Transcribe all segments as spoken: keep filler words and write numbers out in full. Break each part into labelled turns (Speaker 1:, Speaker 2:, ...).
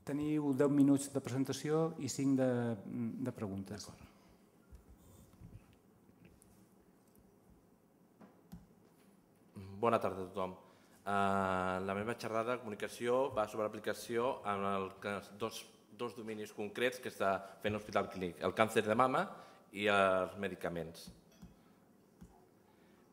Speaker 1: Teniu deu minuts de presentació i cinc de, de preguntes.
Speaker 2: Bona tarda a tothom. Uh, la meva xerrada de comunicació va sobre l'aplicació en els dos, dos dominis concrets que està fent l'Hospital Clínic, el càncer de mama i els medicaments.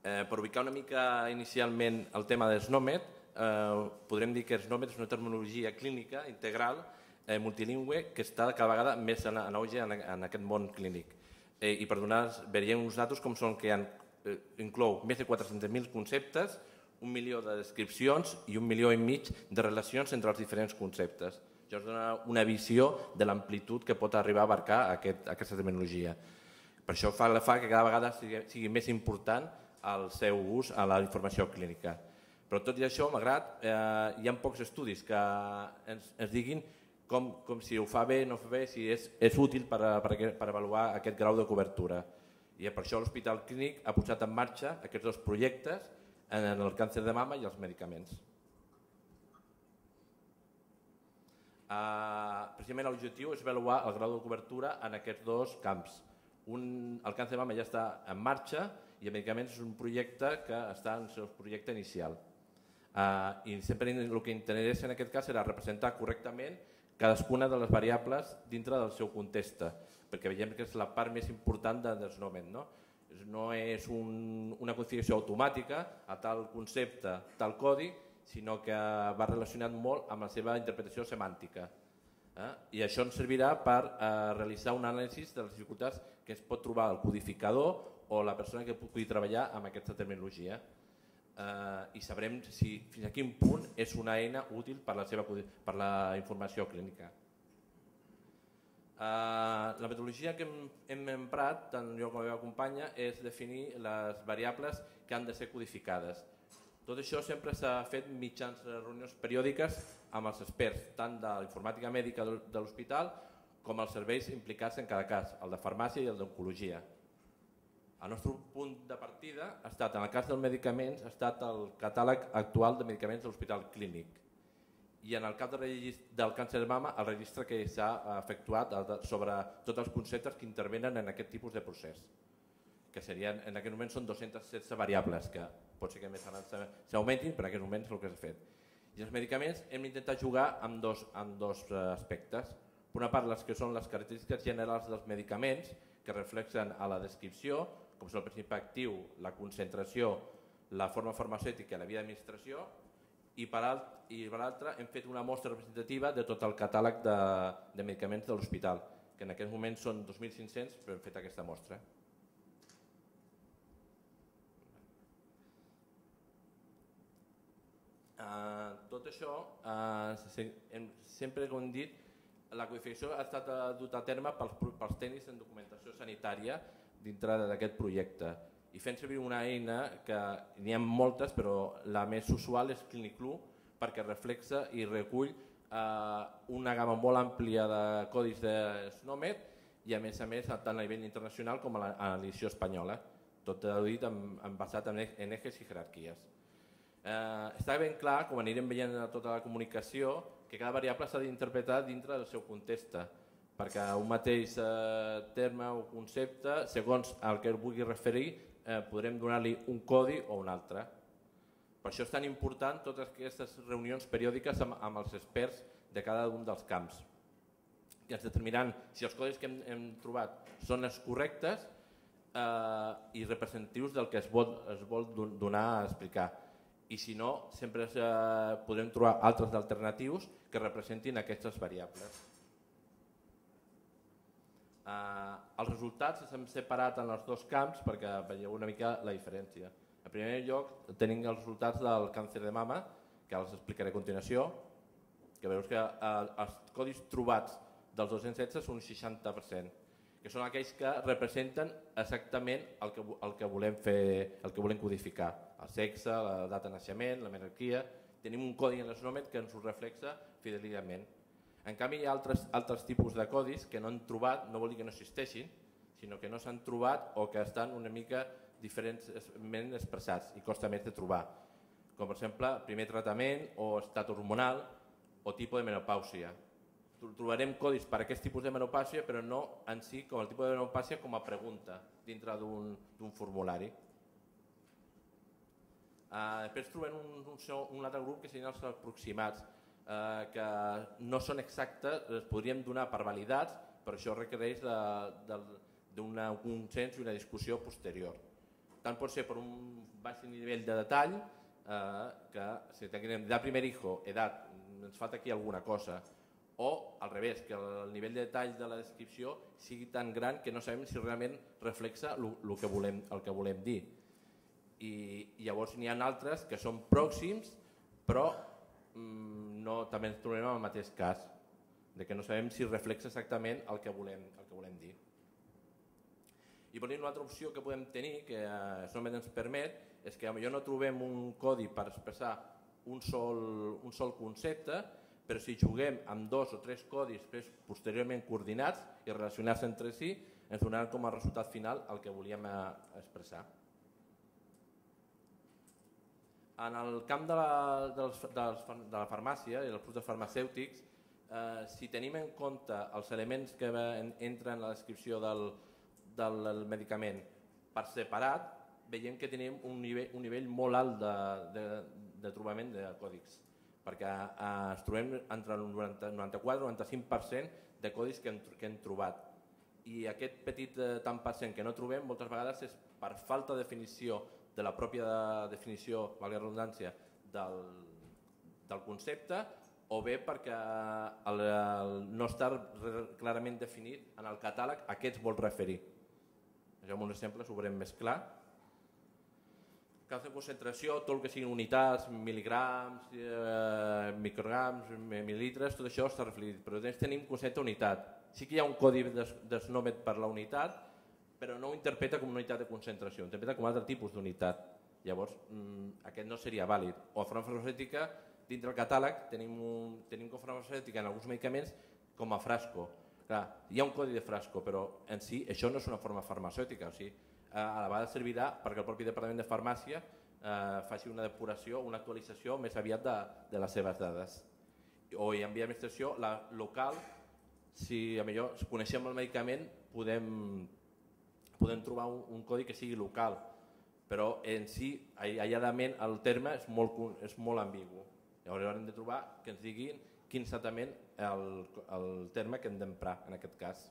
Speaker 2: Eh, per ubicar una mica inicialment el tema de SNOMED, eh, podrem dir que SNOMED és una terminologia clínica integral eh, multilingüe que està cada vegada més en, en auge en, en aquest món clínic. Eh, I per donar, veiem uns datos com són que han, eh, inclou més de quatre-cents mil conceptes, un milió de descripcions i un milió i mig de relacions entre els diferents conceptes. Això ens dona una visió de l'amplitud que pot arribar a abarcar aquest, aquesta terminologia. Per això fa, fa que cada vegada sigui, sigui més important el seu ús a la informació clínica. Però tot i això, malgrat, eh, hi ha pocs estudis que ens, ens diguin com, com si ho fa bé o no fa bé, si és, és útil per, per, per avaluar aquest grau de cobertura. I per això l'Hospital Clínic ha posat en marxa aquests dos projectes en el càncer de mama i els medicaments. Uh, precisament l'objectiu és avaluar el grau de cobertura en aquests dos camps. Un, el càncer de mama ja està en marxa i els medicaments és un projecte que està en el seu projecte inicial. Uh, I sempre el que interessa en aquest cas serà representar correctament cadascuna de les variables dintre del seu context, perquè veiem que és la part més important de SNOMED, no? No és un, una configuració automàtica a tal concepte, tal codi, sinó que va relacionat molt amb la seva interpretació semàntica. Eh? I això ens servirà per eh, realitzar un anàlisi de les dificultats que es pot trobar el codificador o la persona que pugui treballar amb aquesta terminologia. Eh, I sabrem si, fins a quin punt és una eina útil per la, seva, per la informació clínica. Uh, la metodologia que hem, hem emprat, tant jo com la meva companya, és definir les variables que han de ser codificades. Tot això sempre s'ha fet mitjans reunions periòdiques amb els experts, tant de la informàtica mèdica de l'hospital com els serveis implicats en cada cas, el de farmàcia i el d'oncologia. El nostre punt de partida ha estat, en el cas dels medicaments, ha estat el catàleg actual de medicaments de l'Hospital Clínic. I en el cas del càncer de mama, el registre que s'ha efectuat sobre tots els conceptes que intervenen en aquest tipus de procés, que serien, en aquest moment són dues-centes setze variables, que pot ser que més s'augmentin, però en aquest moment és el que s'ha fet. I els medicaments hem intentat jugar amb dos, amb dos aspectes. Per una part, les que són les característiques generals dels medicaments, que reflexen a la descripció, com són el principi actiu, la concentració, la forma farmacèutica i la via d'administració, i per l'altre hem fet una mostra representativa de tot el catàleg de, de medicaments de l'hospital, que en aquest moment són dos mil cinc-cents, però hem fet aquesta mostra. Uh, tot això, uh, sempre com hem dit, la codificació ha estat duta a terme pels, pels tècnics en documentació sanitària dintre d'aquest projecte. I fent servir una eina que n'hi ha moltes, però la més usual és ClinicLoo, perquè reflexa i recull eh, una gamma molt àmplia de codis de SNOMED i a més a més tant a nivell internacional com a l'edició espanyola, tot dit en, en basat en, en ejes i jerarquies. Eh, està ben clar, com anirem veient a tota la comunicació, que cada variable s'ha d'interpretar dintre del seu context, perquè un mateix eh, terme o concepte, segons el que vulgui referir, Eh, podrem donar-li un codi o un altre. Per això és tan important totes aquestes reunions periòdiques amb, amb els experts de cada un dels camps, que ens determinaran si els codis que hem, hem trobat són els correctes eh, i representatius del que es vol, es vol donar a explicar. I si no, sempre eh, podrem trobar altres alternatius que representin aquestes variables. Uh, els resultats s'han separat en els dos camps perquè veieu una mica la diferència. En primer lloc tenim els resultats del càncer de mama, que els explicaré a continuació, que veus que uh, els codis trobats dels dos-cents setze són un seixanta per cent, que són aquells que representen exactament el que, el que volem fer, el que volem codificar. El sexe, la data de naixement, la menarquia. Tenim un codi en l'SNOMED que ens ho reflexa fidelment. En canvi, hi ha altres, altres tipus de codis que no han trobat, no vol dir que no existeixin, sinó que no s'han trobat o que estan una mica diferentment expressats i costa més de trobar. Com per exemple, primer tractament o estat hormonal o tipus de menopàusia. trobarem codis per a aquest tipus de menopàsia, però no en si com el tipus de menopàsia com a pregunta dintre d'un formulari. Després trobem un altre grup que serien els aproximats, que no són exactes, els podríem donar per validats, però això requereix d'un consens i una discussió posterior. Tant pot ser per un baix nivell de detall, que si tenim edat primer hijo, edat, ens falta aquí alguna cosa, o al revés, que el nivell de detall de la descripció sigui tan gran que no sabem si realment reflexa el que volem dir. I llavors n'hi ha altres que són pròxims, però també ens trobem en el mateix cas, que no sabem si reflexa exactament el que volem dir. I per una altra opció que podem tenir, que només ens permet, és que potser no trobem un codi per expressar un sol concepte, però si juguem amb dos o tres codis posteriorment coordinats i relacionats entre si, ens donaran com a resultat final el que volíem expressar. En el camp de la farmàcia i dels productes farmacèutics, si tenim en compte els elements que entren en la descripció del medicament per separat, veiem que tenim un nivell molt alt de trobament de còdics, perquè ens trobem entre el noranta-quatre i el noranta-cinc per cent de codis que hem trobat. I aquest petit tant per cent que no trobem moltes vegades és per falta de definició de la pròpia definició, valgui la redundància, del concepte, o bé perquè no està clarament definit en el catàleg a què es vol referir. Amb un exemple ho veurem més clar. Casos de concentració, tot el que siguin unitats, mil·ligrams, micrograms, mil·lilitres, tot això està reflectit, però tenim concepte unitat. Sí que hi ha un codi d'Snomet per la unitat, però no ho interpreta com una unitat de concentració, ho interpreta com un altre tipus d'unitat. Llavors, aquest no seria vàlid. O a farmacèutica, dintre del catàleg, tenim com farmacèutica en alguns medicaments com a frasco. Hi ha un codi de frasco, però en si això no és una forma farmacèutica. A la vegada servirà perquè el propi Departament de Farmàcia faci una depuració, una actualització més aviat de les seves dades. O en via d'administració local, si coneixem el medicament, podem podem trobar un codi que sigui local, però en si, aïlladament, el terme és molt ambigu. Llavors haurem de trobar que ens diguin quin és exactament el terme que hem d'emprar en aquest cas.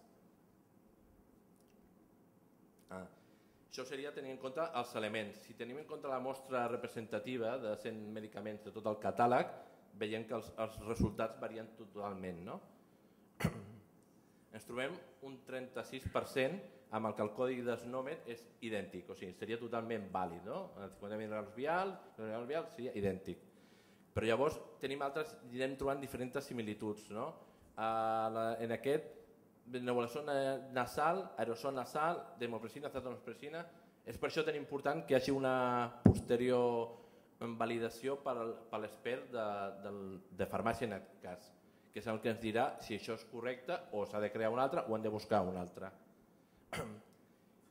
Speaker 2: Això seria tenir en compte els elements. Si tenim en compte la mostra representativa de cent medicaments de tot el catàleg, veiem que els resultats varien totalment. Ens trobem un trenta-sis per cent amb el que el codi d'Snomet és idèntic, o sigui, seria totalment vàlid, el cinquanta mil·ligrams vial seria idèntic. Però llavors tenim altres, anirem trobant diferents similituds. En aquest, nebulizació nasal, aerosol nasal, desmopressina, acetaminofén, és per això tan important que hi hagi una posterior validació per l'expert de farmàcia en aquest cas, que és el que ens dirà si això és correcte o s'ha de crear un altre o hem de buscar un altre.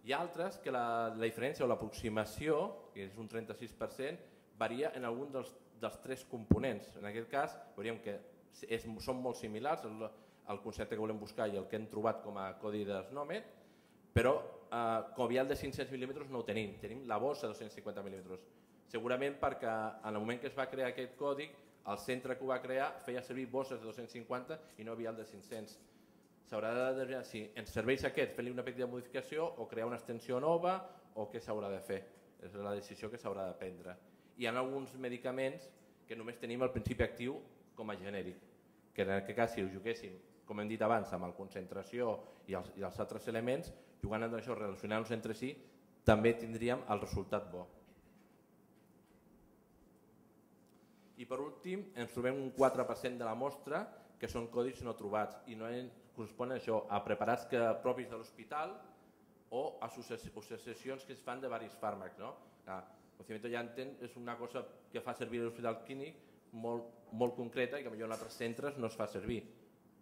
Speaker 2: Hi ha altres que la diferència o l'aproximació, que és un trenta-sis per cent, varia en algun dels tres components. En aquest cas veuríem que són molt similars el concepte que volem buscar i el que hem trobat com a codi d'Snomet, però com vial de cinc-cents mil·límetres no ho tenim, tenim la bossa de dos-cents cinquanta mil·límetres. Segurament perquè en el moment que es va crear aquest codi, el centre que ho va crear feia servir bosses de dos-cents cinquanta i no vial de cinc-cents. S'haurà de determinar si ens serveix aquest, fer-li una petita modificació o crear una extensió nova o què s'haurà de fer. És la decisió que s'haurà de prendre. Hi ha alguns medicaments que només tenim el principi actiu com a genèric, que en aquest cas si ho juguéssim, com hem dit abans, amb la concentració i els altres elements, jugant amb això, relacionant-nos entre si, també tindríem el resultat bo. I per últim, ens trobem un quatre per cent de la mostra que són codis no trobats i no corresponen això a preparats propis de l'hospital o a associacions que es fan de diversos fàrmacs. El procediment Janssen és una cosa que fa servir a l'hospital clínic molt concreta i que potser en altres centres no es fa servir.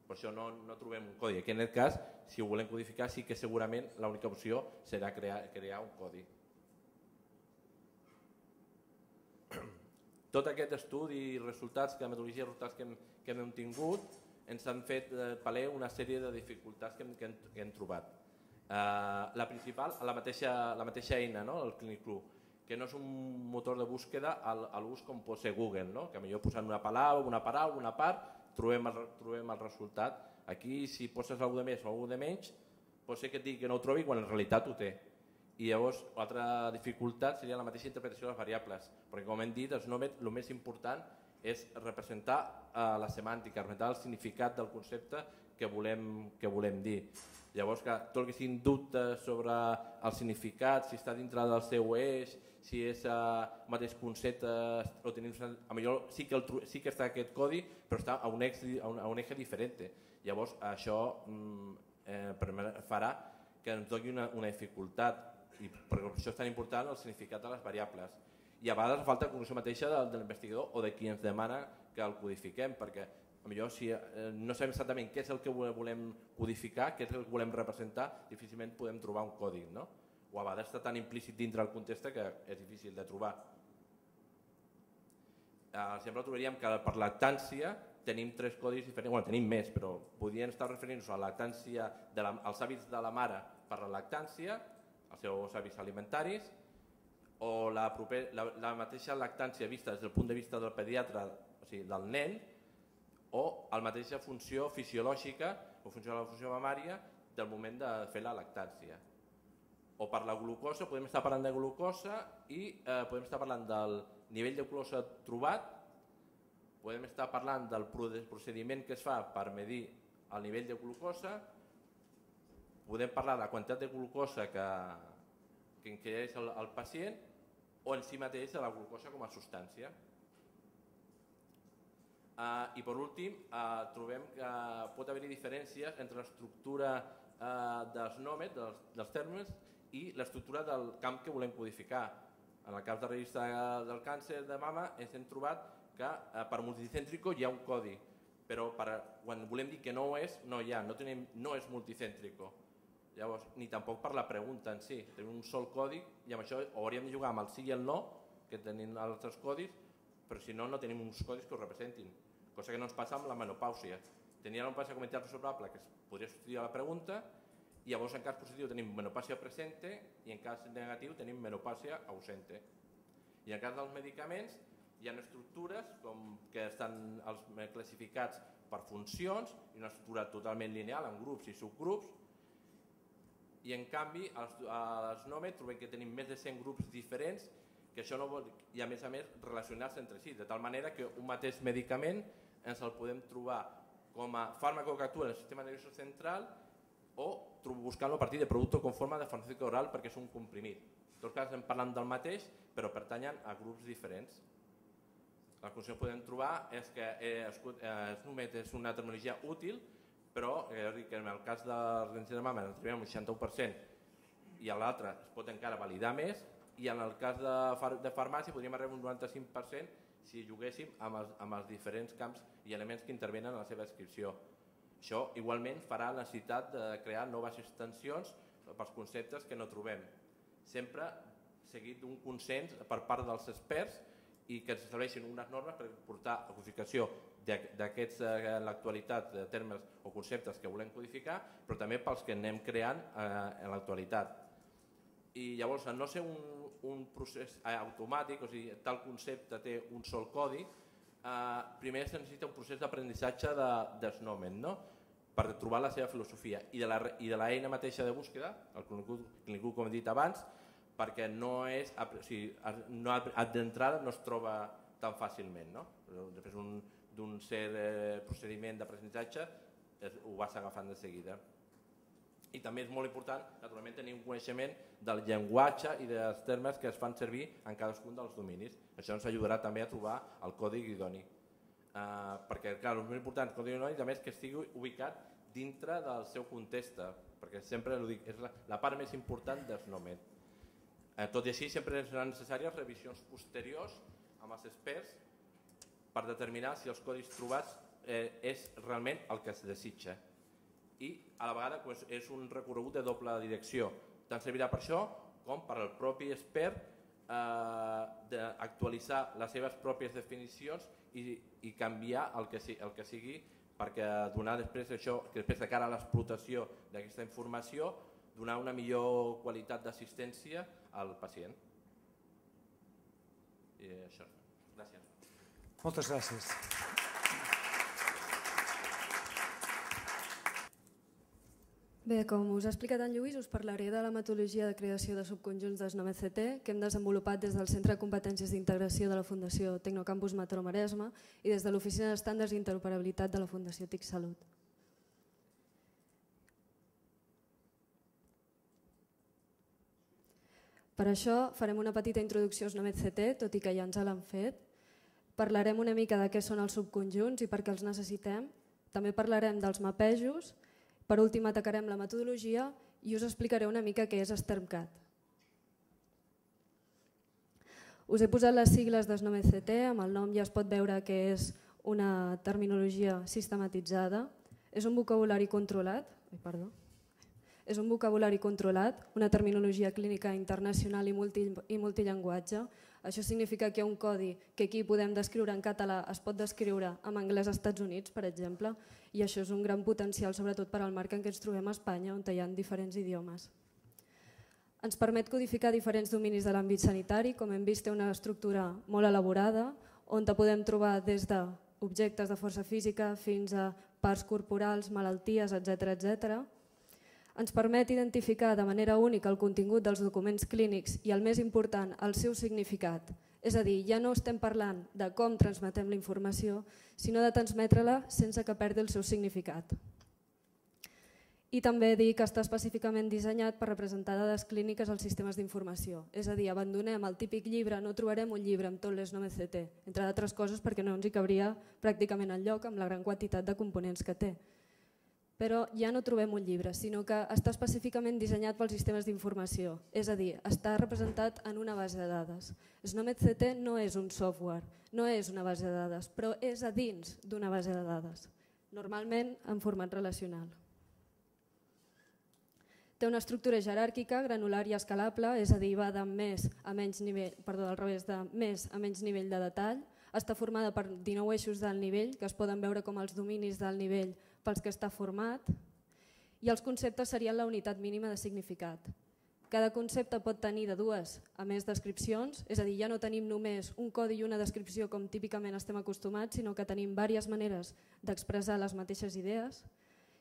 Speaker 2: Per això no trobem un codi. Aquí en aquest cas, si ho volem codificar, sí que segurament l'única opció serà crear un codi. Tot aquest estudi i resultats, que la metodologia de resultats que hem tingut, ens han fet paler una sèrie de dificultats que hem, que hem, que hem trobat. Uh, la principal, la mateixa, la mateixa eina, no? El ClinicClue, que no és un motor de búsqueda a l'ús com pot ser Google, no? Que millor posant una paraula, una paraula, una part, trobem el, trobem el resultat. Aquí, si poses alguna de més o alguna de menys, pot ser que et digui que no ho trobi quan en realitat ho té. I llavors, l'altra dificultat seria la mateixa interpretació de les variables, perquè com hem dit, el més important és representar uh, la semàntica, representar el significat del concepte que volem, que volem dir. Llavors, que tot el que siguin dubtes sobre el significat, si està dintre del seu eix, si és el uh, mateix concepte, o tenim, a millor sí que, el, sí que està aquest codi, però està a un eje, a un, a un eje diferent. Llavors, això mm, eh, farà que ens doni una, una dificultat, i per això és tan important el significat de les variables. I a vegades falta la cognició mateixa de, de l'investigador o de qui ens demana que el codifiquem, perquè potser si eh, no sabem exactament què és el que volem codificar, què és el que volem representar, difícilment podem trobar un codi, no? O a vegades està tan implícit dintre el context que és difícil de trobar. Per exemple, trobaríem que per lactància tenim tres codis diferents, bueno, tenim més, però podrien estar referint-nos a la lactància, de la, als hàbits de la mare per la lactància, els seus hàbits alimentaris, o la, proper, la, la mateixa lactància vista des del punt de vista del pediatre, o sigui, del nen, o la mateixa funció fisiològica o funció de la funció mamària del moment de fer la lactància. O per la glucosa, podem estar parlant de glucosa i eh, podem estar parlant del nivell de glucosa trobat, podem estar parlant del procediment que es fa per medir el nivell de glucosa, podem parlar de la quantitat de glucosa que, que ingereix el, el pacient o en si mateix de la glucosa com a substància. Uh, I per últim, uh, trobem que pot haver-hi diferències entre l'estructura uh, dels nòmets, dels, dels termes, i l'estructura del camp que volem codificar. En el cas de la revista del càncer de mama ens hem trobat que uh, per multicèntrico hi ha un codi, però per, quan volem dir que no ho és, no hi ha, no, tenim, no és multicèntrico. Llavors, ni tampoc per la pregunta en si. Tenim un sol codi i amb això hauríem de jugar amb el sí i el no, que tenim altres codis, però si no, no tenim uns codis que ho representin. Cosa que no ens passa amb la menopàusia. Tenia la menopàusia com a entitat resolvable que es podria substituir a la pregunta, i llavors en cas positiu tenim menopàusia presente i en cas negatiu tenim menopàusia ausente. I en cas dels medicaments hi ha estructures com que estan els classificats per funcions, i una estructura totalment lineal en grups i subgrups, i en canvi als, als nòmets trobem que tenim més de cent grups diferents que això no vol, i a més a més relacionats entre si, de tal manera que un mateix medicament ens el podem trobar com a fàrmaco que actua en el sistema nerviós central o buscant-lo a partir de producte con forma de farmacèutica oral perquè és un comprimit. En tot cas estem parlant del mateix però pertanyen a grups diferents. La conclusió que podem trobar és que eh, els nòmets és una terminologia útil, però eh, que en el cas de la càncer de mama ens trobem un seixanta-u per cent i a l'altre es pot encara validar més, i en el cas de, far de farmàcia podríem arribar a un noranta-cinc per cent si juguéssim amb els, amb els diferents camps i elements que intervenen en la seva descripció. Això igualment farà la necessitat de crear noves extensions pels conceptes que no trobem, sempre seguit d'un consens per part dels experts i que s'estableixin unes normes per portar a codificació d'aquests en l'actualitat termes o conceptes que volem codificar, però també pels que anem creant en l'actualitat. I llavors, al no ser un, un procés automàtic, o sigui, tal concepte té un sol codi, eh, primer es necessita un procés d'aprenentatge de, dels nòmens, no? Per trobar la seva filosofia i de, la, i de l'eina mateixa de búsqueda, el ClinicClue, com he dit abans, perquè no és, o sigui, no, d'entrada no es troba tan fàcilment, no? Després un d'un cert eh, procediment d'aprenentatge ho vas agafant de seguida. I també és molt important, naturalment, tenir un coneixement del llenguatge i dels termes que es fan servir en cadascun dels dominis. Això ens ajudarà també a trobar el codi idoni. Uh, perquè, clar, el més important del codi idoni també és que estigui ubicat dintre del seu context, perquè sempre ho dic, és la, la part més important dels nòmets. Uh, tot i així, sempre seran necessàries revisions posteriors amb els experts per determinar si els codis trobats eh, és realment el que es desitja. I a la vegada pues, és un recorregut de doble direcció. Tant servirà per això com per al propi expert eh, d'actualitzar les seves pròpies definicions i, i canviar el que, el que sigui perquè donar després això, que després de cara a l'explotació d'aquesta informació, donar una millor qualitat d'assistència al pacient. I això. Gràcies.
Speaker 1: Moltes gràcies.
Speaker 3: Bé, com us ha explicat en Lluís, us parlaré de la metodologia de creació de subconjunts d'Snomet C T que hem desenvolupat des del Centre de Competències d'Integració de la Fundació Tecnocampus Mataró Maresme i des de l'Oficina d'Estàndards d'Interoperabilitat de la Fundació T I C Salut. Per això farem una petita introducció a Snomet C T, tot i que ja ens l'han fet. Parlarem una mica de què són els subconjunts i per què els necessitem. També parlarem dels mapejos. Per últim, atacarem la metodologia i us explicaré una mica què és STERMCAT. Us he posat les sigles d'Snomet C T, amb el nom ja es pot veure que és una terminologia sistematitzada. És un vocabulari controlat, ai, perdó, és un vocabulari controlat, una terminologia clínica internacional i, multi, i multillenguatge. Això significa que hi ha un codi que aquí podem descriure en català, es pot descriure en anglès als Estats Units, per exemple, i això és un gran potencial, sobretot per al marc en què ens trobem a Espanya, on hi ha diferents idiomes. Ens permet codificar diferents dominis de l'àmbit sanitari, com hem vist té una estructura molt elaborada, on podem trobar des d'objectes de força física fins a parts corporals, malalties, etcètera, etcètera. Ens permet identificar de manera única el contingut dels documents clínics i, el més important, el seu significat. És a dir, ja no estem parlant de com transmetem la informació, sinó de transmetre-la sense que perdi el seu significat. I també dir que està específicament dissenyat per representar dades clíniques als sistemes d'informació. És a dir, abandonem el típic llibre, no trobarem un llibre amb tot l'Snomet C T, entre d'altres coses perquè no ens hi cabria pràcticament enlloc amb la gran quantitat de components que té. Però ja no trobem un llibre, sinó que està específicament dissenyat pels sistemes d'informació, és a dir, està representat en una base de dades. Snomet C T no és un software, no és una base de dades, però és a dins d'una base de dades, normalment en format relacional. Té una estructura jeràrquica, granular i escalable, és a dir, va de més a menys nivell, perdó, al revés, de més a menys nivell de detall. Està formada per dinou eixos d'alt nivell, que es poden veure com els dominis d'alt nivell pels que està format, i els conceptes serien la unitat mínima de significat. Cada concepte pot tenir de dues a més descripcions, és a dir, ja no tenim només un codi i una descripció com típicament estem acostumats, sinó que tenim diverses maneres d'expressar les mateixes idees.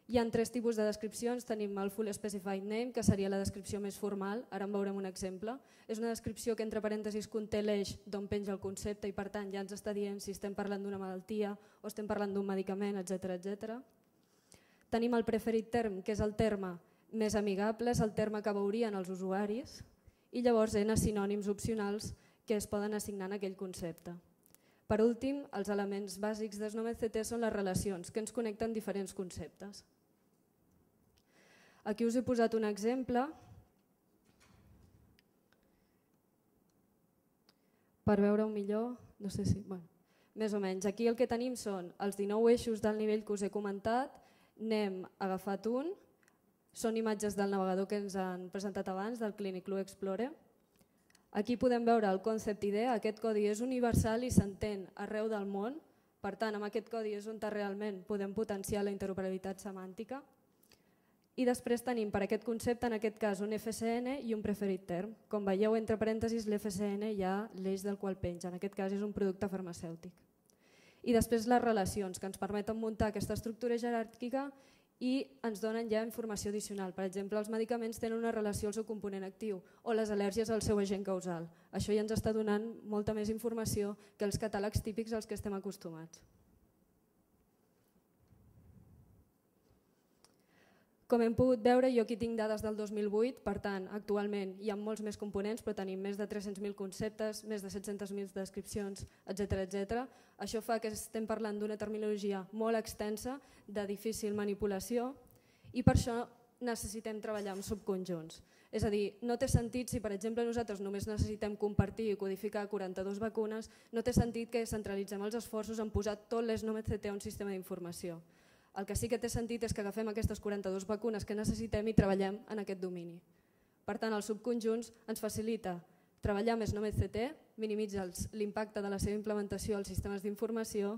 Speaker 3: Hi ha tres tipus de descripcions, tenim el Full Specified Name, que seria la descripció més formal, ara en veurem un exemple. És una descripció que entre parèntesis conté l'eix d'on penja el concepte i per tant ja ens està dient si estem parlant d'una malaltia o estem parlant d'un medicament, etcètera, etcètera. Tenim el Preferred Term, que és el terme més amigable, és el terme que veurien els usuaris, i llavors hi ha sinònims opcionals que es poden assignar en aquell concepte. Per últim, els elements bàsics d'Snomet C T són les relacions, que ens connecten diferents conceptes. Aquí us he posat un exemple per veure-ho millor, no sé si... Bueno, més o menys. Aquí el que tenim són els dinou eixos del nivell que us he comentat, n'hem agafat un, són imatges del navegador que ens han presentat abans, del Clinic Blue Explorer. Aquí podem veure el Concept I D, aquest codi és universal i s'entén arreu del món, per tant amb aquest codi és on realment podem potenciar la interoperabilitat semàntica. I després tenim per aquest concepte, en aquest cas, un F C N i un Preferred Term. Com veieu, entre parèntesis, l'F C N hi ha l'eix del qual penja, en aquest cas és un producte farmacèutic. I després les relacions, que ens permeten muntar aquesta estructura jeràrquica i ens donen ja informació addicional. Per exemple, els medicaments tenen una relació al seu component actiu o les al·lèrgies al seu agent causal. Això ja ens està donant molta més informació que els catàlegs típics als que estem acostumats. Com hem pogut veure, jo aquí tinc dades del dos mil vuit, per tant, actualment hi ha molts més components, però tenim més de tres-cents mil conceptes, més de set-cents mil descripcions, etcètera, etcètera. Això fa que estem parlant d'una terminologia molt extensa, de difícil manipulació, i per això necessitem treballar amb subconjunts. És a dir, no té sentit si, per exemple, nosaltres només necessitem compartir i codificar quaranta-dues vacunes, no té sentit que centralitzem els esforços en posar tot l'Snomet C T a un sistema d'informació. El que sí que té sentit és que agafem aquestes quaranta-dues vacunes que necessitem i treballem en aquest domini. Per tant, els subconjunts ens facilita treballar amb Snomet C T, minimitza l'impacte de la seva implementació als sistemes d'informació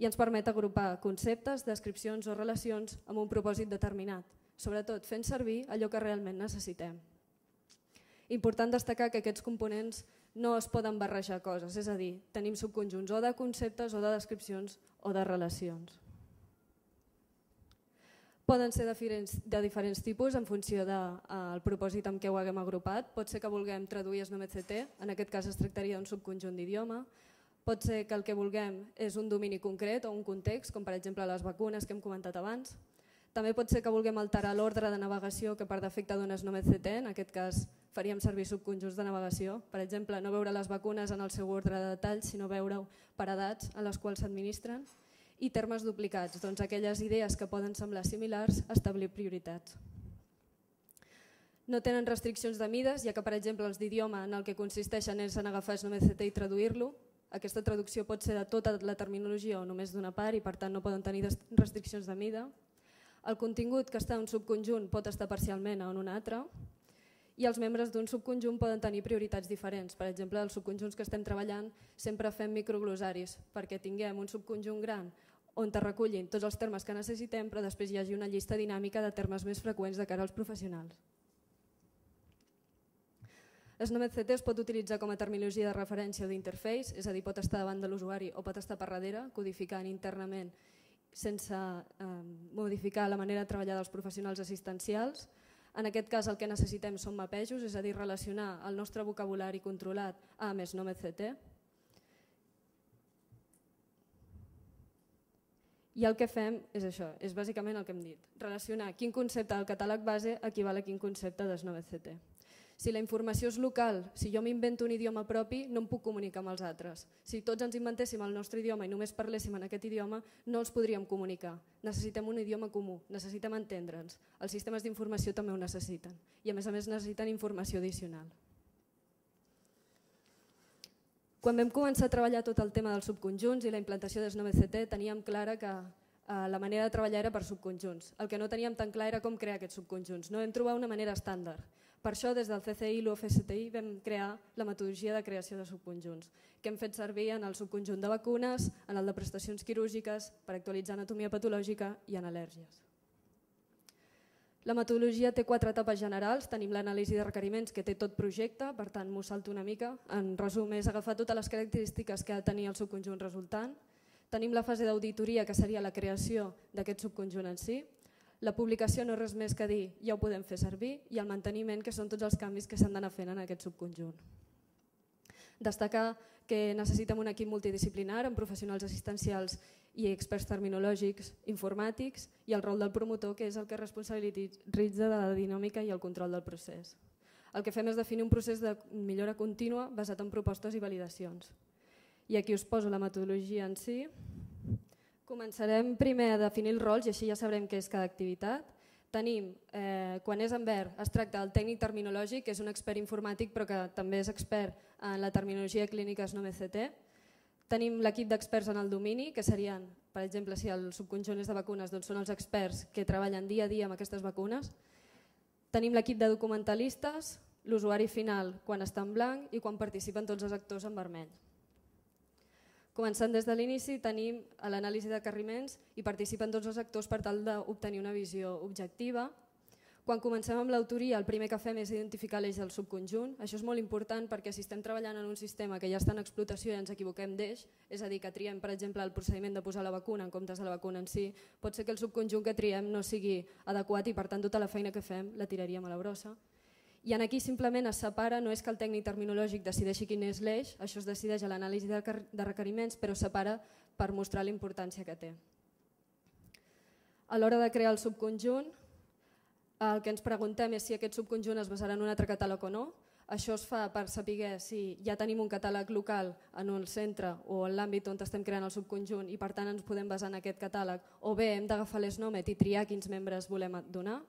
Speaker 3: i ens permet agrupar conceptes, descripcions o relacions amb un propòsit determinat, sobretot fent servir allò que realment necessitem. Important destacar que aquests components no es poden barrejar coses, és a dir, tenim subconjunts o de conceptes o de descripcions o de relacions. Poden ser de diferents, de diferents tipus en funció del de, propòsit amb què ho haguem agrupat. Pot ser que vulguem traduir S N O M C T, en aquest cas es tractaria d'un subconjunt d'idioma. Pot ser que el que vulguem és un domini concret o un context, com per exemple les vacunes que hem comentat abans. També pot ser que vulguem alterar l'ordre de navegació que per defecte dona S N O M C T, en aquest cas faríem servir subconjunts de navegació. Per exemple, no veure les vacunes en el seu ordre de detall, sinó veure-ho per edats en les quals s'administren. I termes duplicats, doncs aquelles idees que poden semblar similars, establir prioritats. No tenen restriccions de mides, ja que per exemple els d'idioma en el que consisteixen és en agafar S N O M C T i traduir-lo. Aquesta traducció pot ser de tota la terminologia o només d'una part i per tant no poden tenir restriccions de mida. El contingut que està en un subconjunt pot estar parcialment en un altre i els membres d'un subconjunt poden tenir prioritats diferents. Per exemple, els subconjunts que estem treballant sempre fem microglosaris perquè tinguem un subconjunt gran on es recullin tots els termes que necessitem, però després hi hagi una llista dinàmica de termes més freqüents de cara als professionals. S N O M C T es pot utilitzar com a terminologia de referència o d'interface, és a dir, pot estar davant de l'usuari o pot estar per darrere, codificant internament sense eh, modificar la manera de treballar dels professionals assistencials. En aquest cas el que necessitem són mapejos, és a dir, relacionar el nostre vocabulari controlat amb S N O M C T. I el que fem és això, és bàsicament el que hem dit, relacionar quin concepte del catàleg base equival a quin concepte de S N O M C T. Si la informació és local, si jo m'invento un idioma propi, no em puc comunicar amb els altres. Si tots ens inventéssim el nostre idioma i només parléssim en aquest idioma, no els podríem comunicar. Necessitem un idioma comú, necessitem entendre'ns. Els sistemes d'informació també ho necessiten i a més a més necessiten informació addicional. Quan vam començar a treballar tot el tema dels subconjunts i la implantació de S N O M C T teníem clara que la manera de treballar era per subconjunts. El que no teníem tan clar era com crear aquests subconjunts. No vam trobar una manera estàndard. Per això, des del C C I i l'U F S T I vam crear la metodologia de creació de subconjunts, que hem fet servir en el subconjunt de vacunes, en el de prestacions quirúrgiques, per actualitzar anatomia patològica i en al·lèrgies. La metodologia té quatre etapes generals. Tenim l'anàlisi de requeriments que té tot projecte, per tant m'ho salto una mica. En resum, és agafar totes les característiques que ha de tenir el subconjunt resultant. Tenim la fase d'auditoria, que seria la creació d'aquest subconjunt en si. La publicació no és res més que dir, ja ho podem fer servir, i el manteniment, que són tots els canvis que s'han d'anar fent en aquest subconjunt. Destacar que necessitem un equip multidisciplinar amb professionals assistencials i experts terminològics, informàtics, i el rol del promotor, que és el que responsabilitza de la dinàmica i el control del procés. El que fem és definir un procés de millora contínua basat en propostes i validacions. I aquí us poso la metodologia en si. Començarem primer a definir els rols i així ja sabrem què és cada activitat. Tenim, eh, quan és en verd, es tracta del tècnic terminològic, que és un expert informàtic però que també és expert en la terminologia clínica S N O M C T. Tenim l'equip d'experts en el domini, que serien, per exemple, si el subconjunt és de vacunes, doncs són els experts que treballen dia a dia amb aquestes vacunes. Tenim l'equip de documentalistes, l'usuari final quan està en blanc i quan participen tots els actors en vermell. Començant des de l'inici, tenim l'anàlisi de requeriments i participen tots els actors per tal d'obtenir una visió objectiva. Quan comencem amb l'autoria, el primer que fem és identificar l'eix del subconjunt. Això és molt important perquè si estem treballant en un sistema que ja està en explotació i ens equivoquem d'eix, és a dir, que triem, per exemple, el procediment de posar la vacuna en comptes de la vacuna en si, pot ser que el subconjunt que triem no sigui adequat i per tant tota la feina que fem la tiraríem a la brossa. I aquí simplement es separa, no és que el tècnic terminològic decideixi quin és l'eix, això es decideix a l'anàlisi de requeriments, però separa per mostrar la importància que té. A l'hora de crear el subconjunt, el que ens preguntem és si aquest subconjunt es basarà en un altre catàleg o no. Això es fa per saber si ja tenim un catàleg local en un centre o en l'àmbit on estem creant el subconjunt i per tant ens podem basar en aquest catàleg, o bé hem d'agafar l'S N O M E T i triar quins membres volem donar.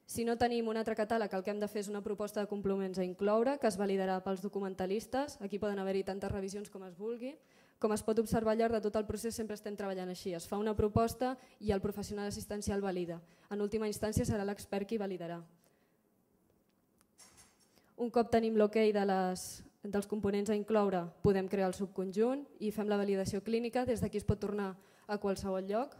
Speaker 3: Si no tenim un altre catàleg, el que hem de fer és una proposta de complements a incloure, que es validarà pels documentalistes. Aquí poden haver-hi tantes revisions com es vulgui. Com es pot observar al llarg de tot el procés sempre estem treballant així. Es fa una proposta i el professional assistencial valida. En última instància serà l'expert qui validarà. Un cop tenim l'ok de les dels components a incloure podem crear el subconjunt i fem la validació clínica, des d'aquí es pot tornar a qualsevol lloc.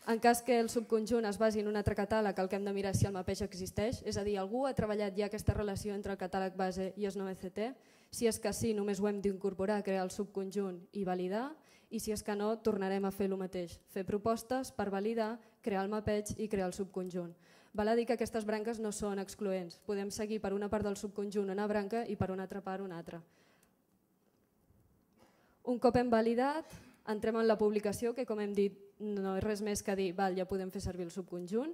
Speaker 3: En cas que el subconjunt es basi en un altre catàleg, el que hem de mirar és si el mapeig existeix, és a dir, algú ha treballat ja aquesta relació entre el catàleg base i S nou E C T. Si és que sí, només ho hem d'incorporar, crear el subconjunt i validar, i si és que no, tornarem a fer el mateix, fer propostes per validar, crear el mapeig i crear el subconjunt. Val a dir que aquestes branques no són excloents, podem seguir per una part del subconjunt una branca i per una altra part una altra. Un cop hem validat, entrem en la publicació, que com hem dit no és res més que dir val, ja podem fer servir el subconjunt,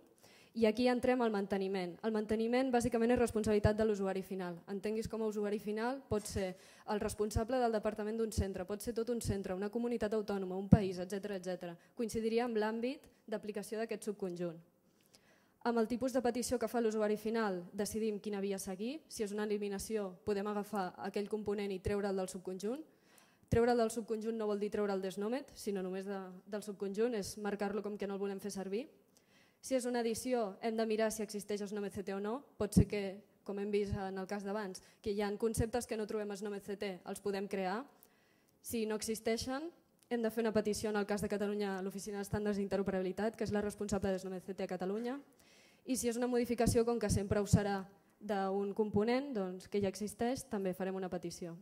Speaker 3: i aquí entrem al manteniment. El manteniment bàsicament és responsabilitat de l'usuari final. Entenguis com a usuari final pot ser el responsable del departament d'un centre, pot ser tot un centre, una comunitat autònoma, un país, etcètera etcètera. Coincidiria amb l'àmbit d'aplicació d'aquest subconjunt. Amb el tipus de petició que fa l'usuari final decidim quina via seguir. Si és una eliminació podem agafar aquell component i treure'l del subconjunt. Treure'l del subconjunt no vol dir treure'l d'Snomet, sinó només de, del subconjunt, és marcar-lo com que no el volem fer servir. Si és una edició hem de mirar si existeix Snome C T o no. Pot ser que, com hem vist en el cas d'abans, que hi ha conceptes que no trobem a Snome C T, els podem crear. Si no existeixen, hem de fer una petició en el cas de Catalunya a l'Oficina d'Estàndards d'Interoperabilitat, que és la responsable de Snome C T a Catalunya. I si és una modificació, com que sempre ho serà d'un component doncs, que ja existeix, també farem una petició.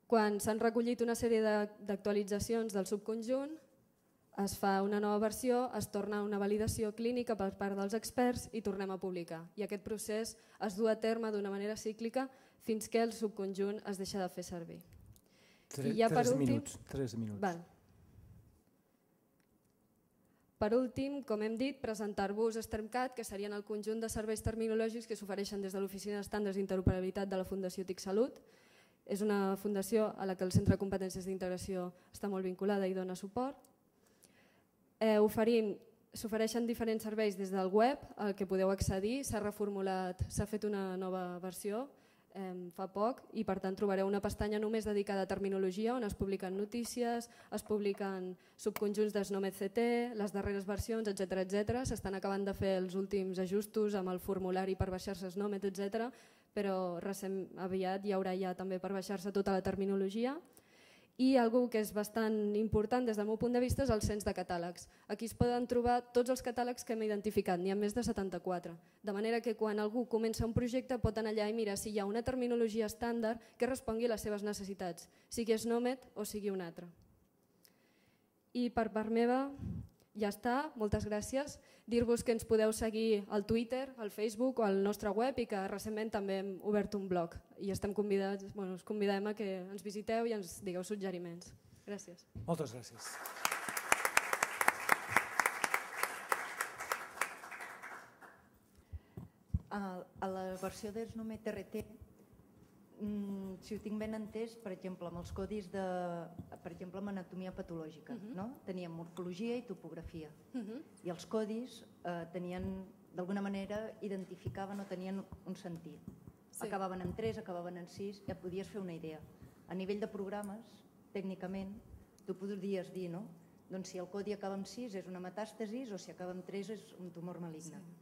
Speaker 3: Quan s'han recollit una sèrie d'actualitzacions del subconjunt, es fa una nova versió, es torna a una validació clínica per part dels experts i tornem a publicar. I aquest procés es du a terme d'una manera cíclica fins que el subconjunt es deixa de fer servir.
Speaker 1: Tres, ja tres, últim, minuts, tres minuts.
Speaker 3: Val. Per últim, com hem dit, presentar-vos STERMCAT, que serien el conjunt de serveis terminològics que s'ofereixen des de l'Oficina d'Estàndards d'Interoperabilitat de la Fundació TIC Salut. És una fundació a la que el Centre de Competències d'Integració està molt vinculada i dona suport. Eh, oferim, s'ofereixen diferents serveis des del web al que podeu accedir, s'ha reformulat, s'ha fet una nova versió eh, fa poc i per tant trobareu una pestanya només dedicada a terminologia on es publiquen notícies, es publiquen subconjunts d'Snome C T, les darreres versions, etcètera etcètera. S'estan acabant de fer els últims ajustos amb el formulari per baixar-se Snomet, etcètera, però recent, aviat hi haurà ja també per baixar-se tota la terminologia. I algo que és bastant important des del meu punt de vista és el cens de catàlegs. Aquí es poden trobar tots els catàlegs que hem identificat, n'hi ha més de setanta-quatre. De manera que quan algú comença un projecte pot anar allà i mirar si hi ha una terminologia estàndard que respongui a les seves necessitats, sigui Snomet o sigui un altre. I per part meva ja està, moltes gràcies. Dir-vos que ens podeu seguir al Twitter, al Facebook o al nostre web i que recentment també hem obert un blog i estem convidats, bueno, us convidem a que ens visiteu i ens digueu suggeriments. Gràcies.
Speaker 1: Moltes gràcies.
Speaker 4: A la versió de Snomet R T, si ho tinc ben entès, per exemple, amb els codis de, per exemple, amb anatomia patològica, uh-huh. no? Teníem morfologia i topografia. Uh-huh. I els codis eh, tenien, d'alguna manera, identificaven o tenien un sentit. Sí. Acabaven en tres, acabaven en sis, ja podies fer una idea. A nivell de programes, tècnicament, tu podries dir, no? Doncs si el codi acaba amb sis és una metàstasis o si acaba amb tres és un tumor maligne. Sí.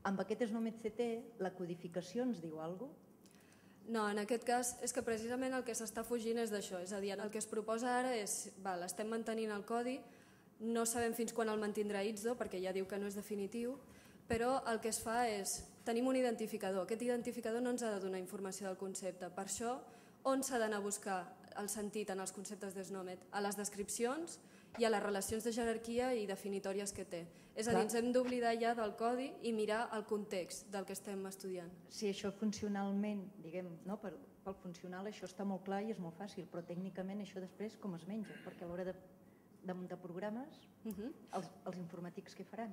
Speaker 4: Amb aquest Snomet C T, la codificació ens diu alguna cosa?
Speaker 3: No, en aquest cas és que precisament el que s'està fugint és d'això, és a dir, el que es proposa ara és, val, estem mantenint el codi, no sabem fins quan el mantindrà I T S O perquè ja diu que no és definitiu, però el que es fa és, tenim un identificador, aquest identificador no ens ha de donar informació del concepte, per això on s'ha d'anar a buscar el sentit en els conceptes de Snomet? A les descripcions i a les relacions de jerarquia i definitòries que té. És a dir, ens hem d'oblidar ja del codi i mirar el context del que estem estudiant.
Speaker 4: Si això funcionalment, diguem, no, pel, pel funcional això està molt clar i és molt fàcil, però tècnicament això després com es menja? Perquè a l'hora de, de muntar programes, uh-huh. els, els informàtics què faran?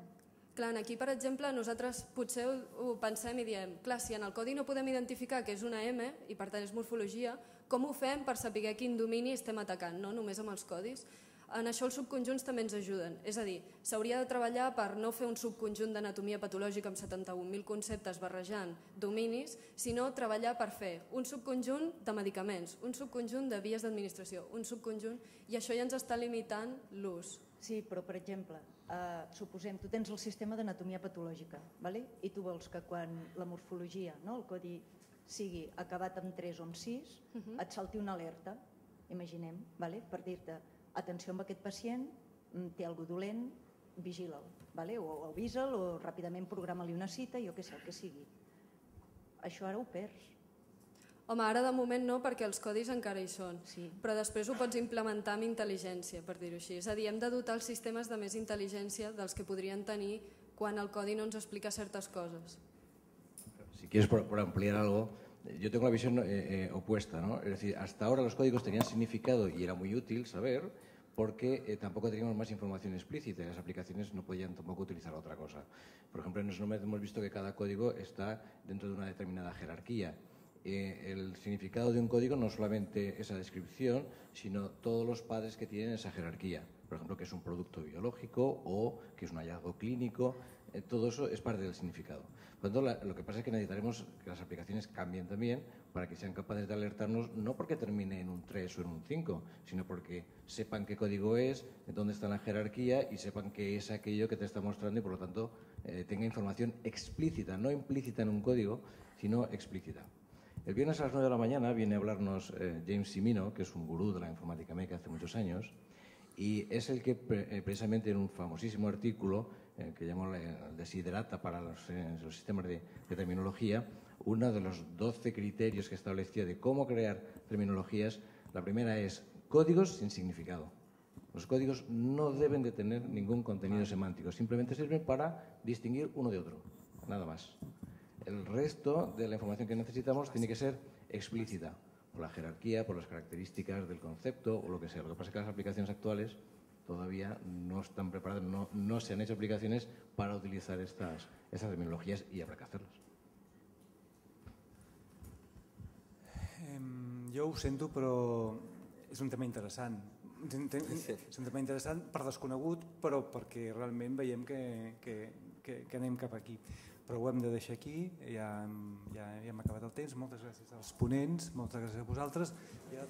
Speaker 3: Clar, aquí, per exemple, nosaltres potser ho, ho pensem i diem, clar, si en el codi no podem identificar que és una M i per tant és morfologia, com ho fem per saber quin domini estem atacant, no només amb els codis? En això els subconjunts també ens ajuden, és a dir, s'hauria de treballar per no fer un subconjunt d'anatomia patològica amb setanta-un mil conceptes barrejant dominis, sinó treballar per fer un subconjunt de medicaments, un subconjunt de vies d'administració, un subconjunt, i això ja ens està limitant l'ús.
Speaker 4: Sí, però per exemple, eh, suposem, tu tens el sistema d'anatomia patològica, vale? I tu vols que quan la morfologia, no, el codi sigui acabat amb tres o amb sis, uh-huh. et salti una alerta, imaginem, vale? Per dir-te, atenció amb aquest pacient, té algú dolent, vigila'l, vale? o avisa'l o ràpidament programa-li una cita, jo què sé, el que sigui. Això ara ho perds.
Speaker 3: Home, ara de moment no, perquè els codis encara hi són,
Speaker 4: sí.
Speaker 3: però després ho pots implementar amb intel·ligència, per dir-ho així. És a dir, hem de dotar els sistemes de més intel·ligència dels que podrien tenir quan el codi no ens explica certes coses.
Speaker 5: Si quieres por, por ampliar algo, yo tengo la visión eh, eh, opuesta, ¿no? Es decir, hasta ahora los códigos tenían significado y era muy útil saber porque eh, tampoco teníamos más información explícita y las aplicaciones no podían tampoco utilizar otra cosa. Por ejemplo, en SNOMED hemos visto que cada código está dentro de una determinada jerarquía. Eh, el significado de un código no solamente esa descripción, sino todos los padres que tienen esa jerarquía. Por ejemplo, que es un producto biológico o que es un hallazgo clínico. Eh, todo eso es parte del significado. Por lo tanto, la, lo que pasa es que necesitaremos que las aplicaciones cambien también para que sean capaces de alertarnos, no porque termine en un tres o en un cinco, sino porque sepan qué código es, dónde está la jerarquía y sepan qué es aquello que te está mostrando y por lo tanto eh, tenga información explícita, no implícita en un código, sino explícita. El viernes a las nueve de la mañana viene a hablarnos eh, James Cimino, que es un gurú de la informática médica hace muchos años, y es el que eh, precisamente en un famosísimo artículo eh, que llamó el Desiderata para los, eh, los sistemas de, de terminología, uno de los doce criterios que establecía de cómo crear terminologías, la primera es códigos sin significado. Los códigos no deben de tener ningún contenido semántico, simplemente sirven para distinguir uno de otro, nada más. El resto de la información que necesitamos tiene que ser explícita, por la jerarquía, por las características del concepto o lo que sea. Lo que pasa es que las aplicaciones actuales todavía no están preparadas, no, no se han hecho aplicaciones para utilizar estas, estas terminologías y habrá que hacerlas.
Speaker 1: Eh, jo ho sento, però és un tema interessant. És un tema interessant per desconegut, però perquè realment veiem que, que, que, que anem cap aquí. Però ho hem de deixar aquí, ja, ja, ja hem acabat el temps. Moltes gràcies als ponents, moltes gràcies a vosaltres. Ja...